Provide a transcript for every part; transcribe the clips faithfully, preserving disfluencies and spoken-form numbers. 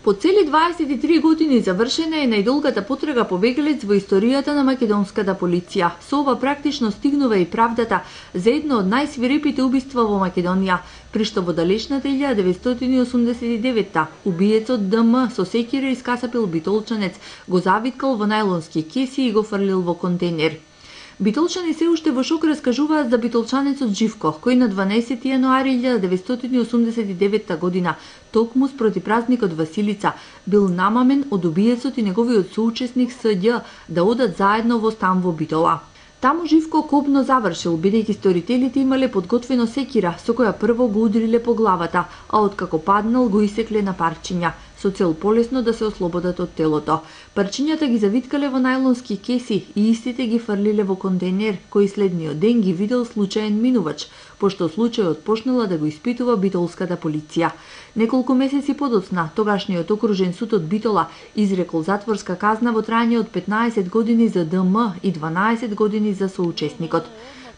По цели дваесет и три години завршена е најдолгата потрага по бегалец во историјата на македонската полиција. Со ова практично стигнува и правдата за едно од најсвирепите убиства во Македонија, при што во далечната илјада деветстотини и осумдесет и девета убиецот Д М со секира искасапил битолчанец, го завиткал во најлонски кеси и го фрлил во контейнер. Битолчани се уште во шок раскажуваат за битолчанецот Живко, кој на дванаесети јануари илјада деветстотини и осумдесет и девета година, токму спроти празникот Василица, бил намамен од убиецот и неговиот соучесник С Ѓ да одат заедно во стан во Битола. Таму Живко кобно завршил, бидејќи сторителите имале подготвено секира со која прво го удриле по главата, а откако паднал го исекле на парчиња, со цел полесно да се ослободат од телото. Парчињата ги завиткале во најлонски кеси и истите ги фрлиле во контейнер, кој следниот ден ги видел случаен минувач, пошто случајот почнала да го испитува битолската полиција. Неколку месеци подоцна, тогашниот окружен суд од Битола изрекол затворска казна во трајање од петнаесет години за Д М и дванаесет години за соучесникот.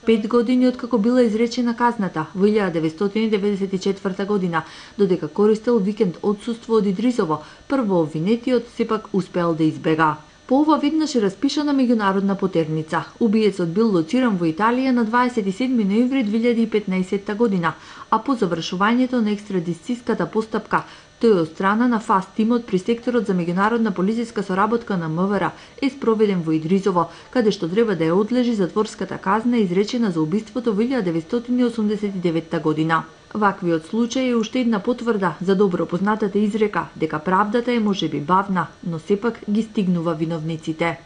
Пет години откако била изречена казната во илјада деветстотини деветдесет и четврта година, додека користел викенд отсуство од Идризово, прво обвинетиот сепак успеал да избега. По ова веднаш е распишана меѓународна потерница. Убиецот бил лоциран во Италија на дваесет и седми ноември две илјади и петнаесетта година, а по завршувањето на екстрадициската постапка, тој од страна на ФАС тимот при секторот за меѓународна полициска соработка на М В Р е спроведен во Идризово, каде што треба да ја одлежи затворската казна изречена за убиството во илјада деветстотини и осумдесет и деветта година. Ваквиот случај е уште една потврда за добро познатата изрека дека правдата е можеби бавна, но сепак ги стигнува виновниците.